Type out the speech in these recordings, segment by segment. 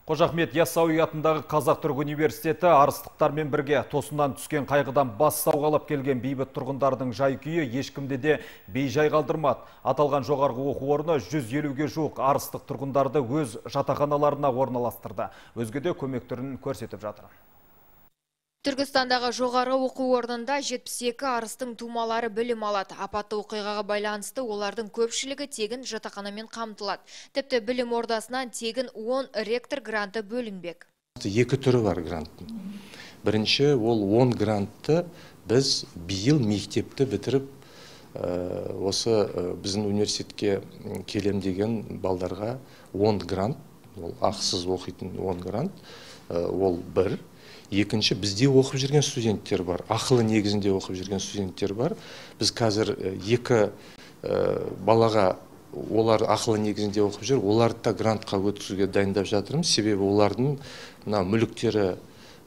Қожа Ахмет Яссауи атындағы Қазақ-Түрік университеті арыстықтармен бірге тосыннан түскен қайғыдан бас сауғалап келген бейбіт тұрғындардың жай-күйі ешкімде де бейжай қалдырмады. Аталған жоғарғы оқу орны 150-ге жуық арыстық тұрғындарды өз жатақханаларына орналастырды. Өзге де көмек түрін көрсетіп жатыр. Түркістандағы жоғары оқу орнында 72 арыстың тумалары білім алады. Апатты оқиғаға байланысты олардың көпшілігі тегін жатақханамен қамтылады. Тіпті білім ордасынан тегін 10 ректор гранты бөлінбек. Екі түрі бар гранттың. Бірінші, ол 10 грантты біз биыл мектепті бітіріп, осы біздің университетке келем деген балдарға 10 грант, ол ақысыз оқитын 10 грант, ол бір. Екінші, бізде оқып жүрген студенттер бар, ақылы негізінде оқып жүрген студенттер бар. Біз қазір екі балаға олар ақылы негізінде оқып жүр, оларды да грантқа өткізуге дайындап жатырмыз. Себебі олардың мүліктері,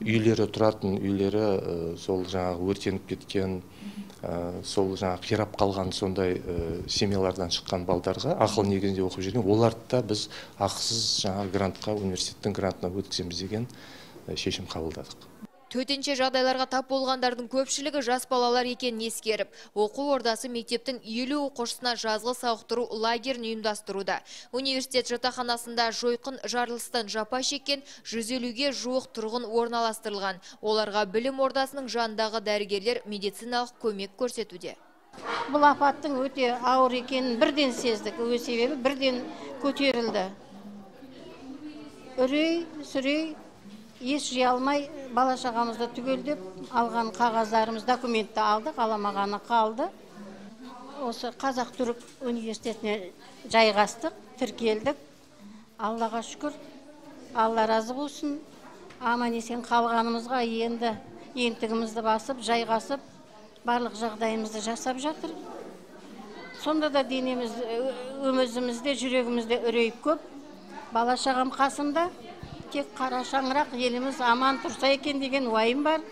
үйлері, тұратын үйлері сол жаңағы өртеніп кеткен, сол жаңағы қирап қалған сондай семьялардан шыққан балдарға ақылы негізінде оқып жүрген, оларды да біз ақысыз жаңағы грантқа, университеттің грантына өткіземіз деген шешім қабылдадық. Төтенше жағдайларға тап болғандардың көпшілігі жас балалар екенін ескеріп, оқу ордасы мектептің 50 оқушысына жазғы сауықтыру лагерін ұйымдастыруда. Университет жатақханасында жойқын жарылыстан жапа шеккен 150-ге жуық тұрғын орналастырылған. Оларға білім ордасының жанындағы дәрігерлер медициналық көмек көрсетуде. Бұл апаттың өте ауыр екенін бірден сездік. Себебі бірден көтерілді. Үрей еш жия алмай бала-шағамызды түгелдеп алған қағаздарымыз, документті алдық, аламағаны қалды. Осы Қазақ-Түрік университетіне жайғастық, тіркелдік. Аллаға шүкір, Алла разы болсын. Аман-есен қалғанымызға енді ентігімізді басып, жайғасып, барлық жағдайымызды жасап жатыр. Сонда да денеміз, өмізімізде, жүрегімізде үрейіп көп. Бала-шағам қасымда. Тек қара шаңырақ еліміз аман тұрса екен деген уайым бар.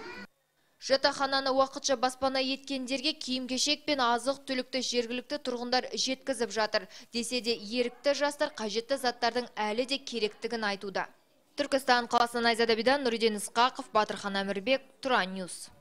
Жатақхананы уақытша баспана еткендерге киім-кешек пен азық-түлікті жергілікті тұрғындар жеткізіп жатыр. Десе де ерікті жастар қажетті заттардың әлі де керектігін айтуда. Түркістан қаласынан Айзада Бидан, Нұриден Исқақов, Батырхан Әмірбек, Тұран Ньюс.